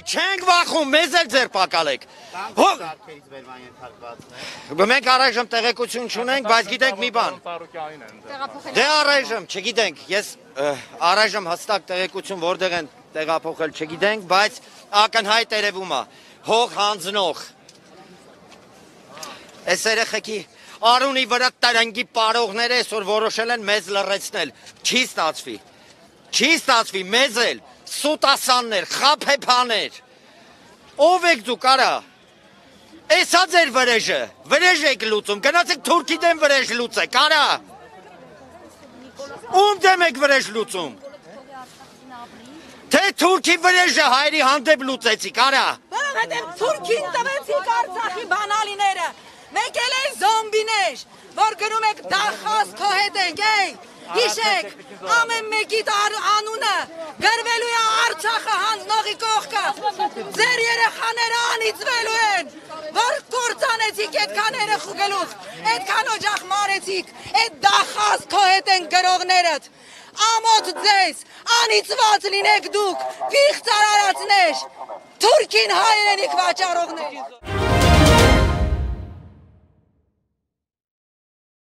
չենք վախում, մեզ էլ ձեր պակալեք։ Մենք առայժմ տեղեկություն չունենք, բայց գիտենք մի բան։ Դե առայժմ, չգիտենք, ես առայժմ հստակ տեղեկություն որտեղ են տեղափոխել չգիտենք, բայց ակնհայտ երևում է, հող հանձնող։ Այս երեխեքի Արունի վրա տրնգի պարողները այսօր որոշել են մեզ լռեցնել, չի ստացվի, մեզ էլ, սուտասաններ, խափեփաներ, ով եք դուք արա, էսա ձեր վրեժը, վրեժ եք լուծում, գնացեք թուրքի դեմ վրեժ լուծեք, արա, ում դեմ եք վրեժ լուծում, թե թուրքի վրեժը հայրի հանդեպ լուծեցիք, արա, որովհետև թուրքին տվեցիք Արցախի բանալիները, մենք էլ են զոմբիներ, որ գնում եք դախած քո հետ ենք, հիշեք, ամեն մեկի անունը գրվելու է Արցախը հանձնողի կողքը, ձեր երեխաները անիծվելու են, որ կործանեցիք այդքան երեխու գլուխ, այդքան օջախ մարեցիք, այդ դախած քո հետ են գրողներդ, ամոթ ձեզ, անիծված լինեք դուք, վիղծ արարածներ, թուրքին հայրենիք վաճառողներ։